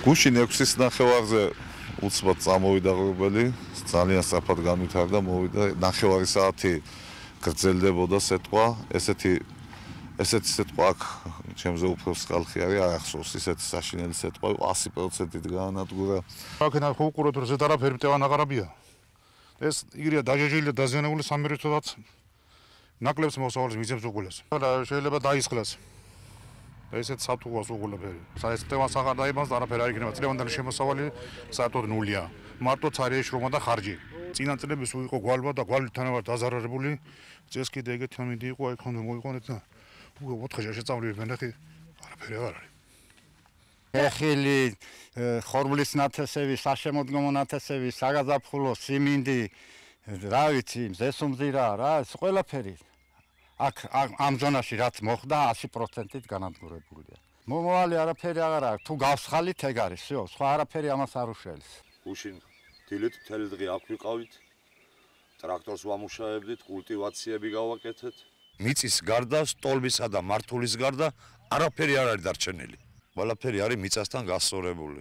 გუშინ 6-ის ნახევარზე უცბად წამოვიდა ღრუბელი, ძალიან სწრაფად განვითარდა, მოვიდა, ნახევარი საათი გრძელდებოდა სეტყვა, ესეთი სეტყვა აქ ჩემზე უფრო სკალხი არის, არ ახსოვს, ისეთი საშინელი სეტყვა 100%-ით გაანადგურა. აქედან ხო უყუროთ, რომ ზედ არაფერი მტევან აღარაბია. ეს იგრია დაჟეჟილი და დაზიანებული სამმართველოდაც ნაკლებს მოსავალს მიცემს უყურეს. შეიძლება დაისხლას. ესეთ საფუძვლას უყურებელი. ეს მტევანს აღარ დაიბანს და არაფერი არ იქნება. წლევანდელი შემოსავალი საერთოდ ნულია. მარტო ცარიე შრომა და ხარჯი. წინა წლების იყო გვალვა და გვალვითთან ვარ დაზარალებული. წეს კიდე ეგეთი ამინდი იყო, აი ხომ მოიყვანეთ და უკვე 4-ში შეწამლივებენ და არაფერი აღარ არის. ეხილი, ხორბლის ნათესები, საშემოდგომო ნათესები, საგაზაფხულო, siminდი, რა ვიცი, ზესუმზირა, რა, ეს ყველაფერი. აქ ამ ზონაში რაც მოხდა 100%-ით განადგურებულია. მომავალი არაფერი აღარ აქვს, თუ გავსხალით ეგ არის, всё, სხვა არაფერი ამას არ უშველს. გუშინ დილით მთელი დღე აქ ვიყავით, ტრაქტორს ვამუშავებდით, კულტივაციები გავაკეთეთ. მიწის გარდა, სტოლბისა და მართულის გარდა არაფერი არ არის დარჩენილი. ყველაფერი არის მიწასთან გასწორებული.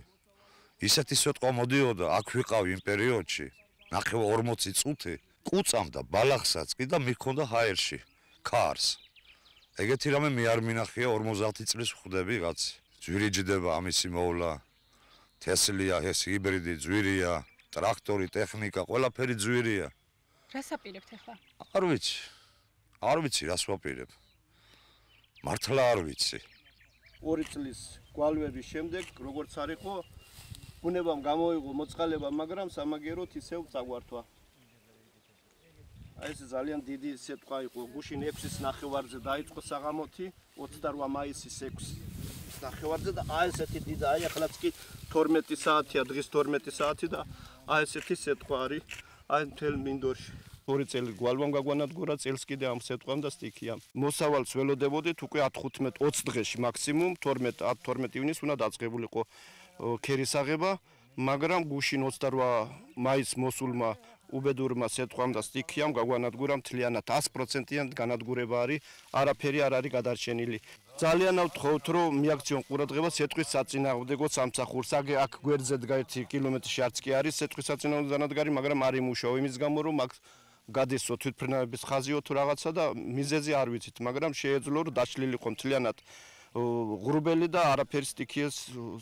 ისეთი სიტყვა მოდიოდა, აქ ვიყავ იმ პერიოდში, ნახევარ 40 წუთი, კუწამდა ბალახსაც კი და მიქონდა ჰაერში, ქარს. ეგეთი რამე მე არ მინახია 50 წლის ხვდები რაც. ძვირი ჯდება ამისი მოვლა. თესლია, ეს ჰიბრიდი ძვირია, ტრაქტორი, ტექნიკა, ყველაფერი ძვირია. რას აპირებთ ახლა? არ ვიცი რას ვაპირებ. მართლა არ ვიცი. 2 წლის გვალვების შემდეგ, როგორც არ იყო, ბუნებამ გამოიღო მოწყალება, მაგრამ სამაგეროთ ისევ წაგვართვა. აი ეს ძალიან დიდი სიტყვა იყო. გუშინ 6-ის ნახევარზე დაიწყო საღამოთი, 28 მაისის 6-ის ნახევარზე და აი ესეთი დიდი, აი ახლაც კი 12 საათია, დღის 12 საათი და აი ესეთი სიტყვა არის აი მთელ მინდორში. 2 წელი გვალვამ გაგვანადგურა, წელს კიდე ამ სეტყვამ და სტიქიამ. მოსავალს ველოდებოდით უკვე 10-15-20 დღეში მაქსიმუმ 12 ივნის უნდა დაწყებულიყო ქერის აღება, მაგრამ გუშინ 28 მაისს მოსულმა უბედურმა სეტყვამ და სტიქიამ გაგვანადგურა მთლიანად 100%-იან განადგურება არის, არაფერი არ არის გადარჩენილი. ძალიან ავთხოვთ, რომ მიაქციონ ყურადღება სეტყვის საწინააღმდეგო სამსახურს. აქ გვერდზე დგა 1 კილომეტრში არც კი არის სეტყვის საწინააღმდეგო დანადგარი, მაგრამ არ იმუშაო იმის გამო, რომ აქ გადისო თვითმფრინავების ხაზიო თუ რაღაცა და მიზეზი არ ვიცით, მაგრამ შეეძლო რომ დაშლილიყო მთლიანად ღრუბელი და არაფერი სტიქიეს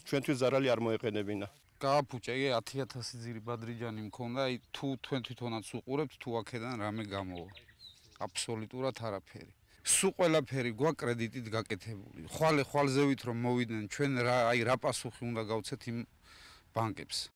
ჩვენთვის ზარალი არ მოეყენებინა. გააფუჭა, 10,000 ძირი ბადრიჯანი მქონდა, აი თუ თქვენ თვითონაც უყურებთ, თუ აქედან რამე გამოვა. აბსოლუტურად არაფერი. სულ ყველაფერი გვა კრედიტით გაკეთებული. ხვალზე ვით რომ მოვიდნენ ჩვენ რა პასუხი უნდა გავცეთ იმ ბანკებს.